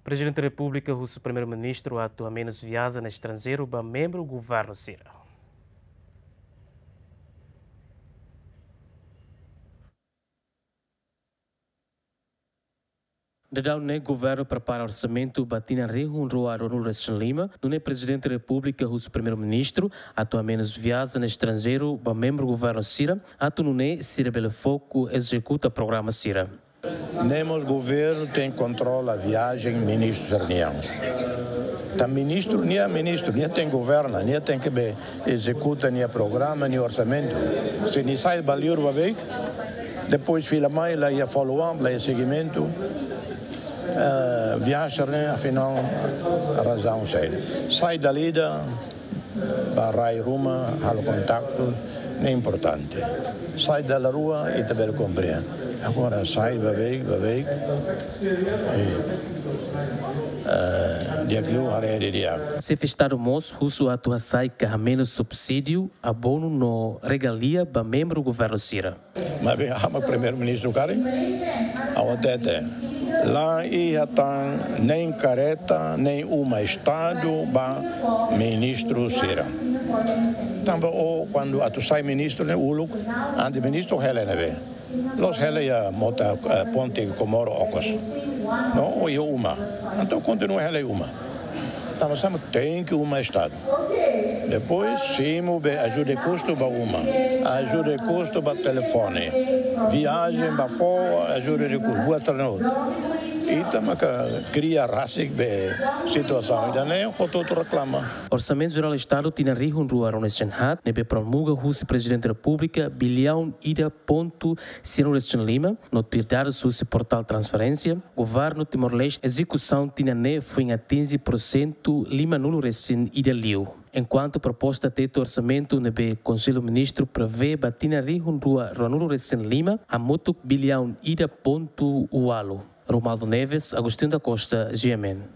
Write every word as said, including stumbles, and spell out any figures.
Prezidente Repúblika husu Primeiru-Ministru atu hamenus viaja estranjeiru ba membru governu sira. Daudaun ne'e governu prepara orsamentu ba tinan rihun rua ruanulu resin lima, nune'e Prezidente Repúblika husu Primeiru-Ministru atu hamenus viaja estranjeiru ba membru governu sira, atu nune'e sira bele foku ezekuta programa sira. Ne'e mós governu tenke kontrola viajen ministru sira-nian. Tanba ministru, nia ministru, nia tenke governa, nia tenke bele ezekuta nia programa, nia orsamentu. Se nia sai ba liur ba beik, depois fila mai, la iha follow up, la iha segimentu. Eh, viajen ne'e, afinál, razaun saida? Sai dala ida, ba rai ruma, halo kontaktu, ne'e importante. Sai dala rua, ita bele komprende. Agora sai ba beik, ba beik. I, eh, di'ak liu haree didi'ak. Xefe Estadu mós husu atu hasai ka hamenus subsídiu, abonu no regalia ba membru governu sira. Maibé ha'u mak Primeiru-Ministru karik, ha'u hatete, la iha tan nein kareta, nein uma Estadu ba ministru sira. Tanba ó, kuandu atu sai ministru ne'e uluk, antes ministru hela iha ne'ebé? La'ós hela iha mota, eh, ponte Komoro okos. No, ó iha uma. Entaun kontinua hela iha uma. Tanba sá mak tenke uma Estadu. Depois, simu be ajuda de kustu ba uma, ajuda de kustu ba telefone, viajen ba fó, ajuda de kustu, buat sira-ne'e hotu. Ita maka kria rasik be situasaun ida-ne'e, hotu-hotu reklama. Orsamentu Jerál Estadu tinan rihun rua ruanulu resin haat, ne'ebé promulga husi Prezidente Repúblika, biliaun ida pontu sianulu resin lima, no tuir dadus husi portál transferénsia, governu Timor-Leste ezekusaun tinan ne'e foin atinje pursentu limanulu resin ida liu. Enkuantu proposta tetu orsamentu ne'ebé Konsellu Ministru prevee ba tinan rihun rua ruanulu resin lima hamutuk biliaun ida pontu ualu. Romualdo Neves, Agostinho da Costa, G M N.